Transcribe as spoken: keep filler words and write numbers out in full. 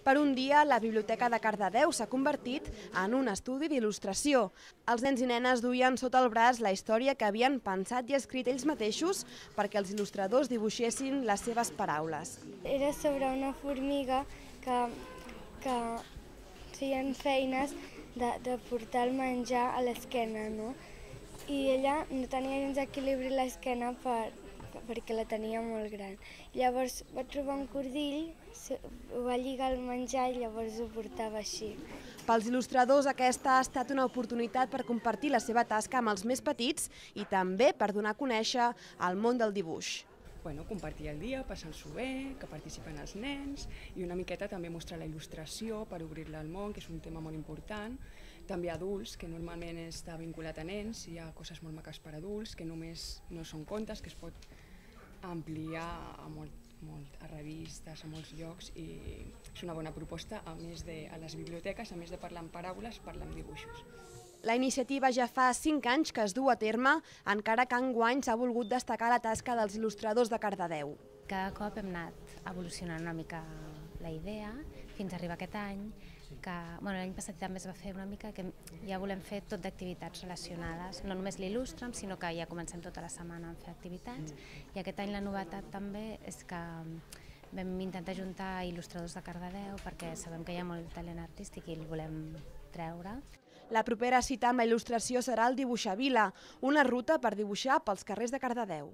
Per un dia, la Biblioteca de Cardedeu s'ha convertit en un estudi d'il·lustració. Els nens i nenes duien sota el braç la història que havien pensat i escrit ells mateixos perquè els il·lustradors dibuixessin les seves paraules. Era sobre una formiga que, que feien feines de, de portar el menjar a l'esquena, no? I ella no tenia gens equilibri a l'esquena per, perquè la tenia molt gran. Llavors va trobar un cordill, ho va lligar al menjar i llavors ho portava així. Pels il·lustradors aquesta ha estat una oportunitat per compartir la seva tasca amb els més petits i també per donar a conèixer el món del dibuix. Bueno, compartir el dia, passar-s'ho bé, que participen els nens i una miqueta també mostrar la il·lustració per obrir-la al món, que és un tema molt important. També adults, que normalment està vinculat a nens, hi ha coses molt maques per adults, que només no són contes, que es pot ampliar a, molt, molt, a revistes, a molts llocs, i és una bona proposta, a més de a les biblioteques, a més de parlar en paraules, parlar en dibuixos. La iniciativa ja fa cinc anys que es du a terme, encara que enguany s'ha volgut destacar la tasca dels il·lustradors de Cardedeu. Cada cop hem anat evolucionant una mica la idea fins a arribar a aquest any, que bueno, l'any passat també es va fer una mica que ja volem fer tot d'activitats relacionades, no només l'il·lustrem, sinó que ja comencem tota la setmana a fer activitats, i aquest any la novetat també és que vam intentar juntar il·lustradors de Cardedeu perquè sabem que hi ha molt talent artístic i el volem treure. La propera cita amb la il·lustració serà el Dibuixavila, una ruta per dibuixar pels carrers de Cardedeu.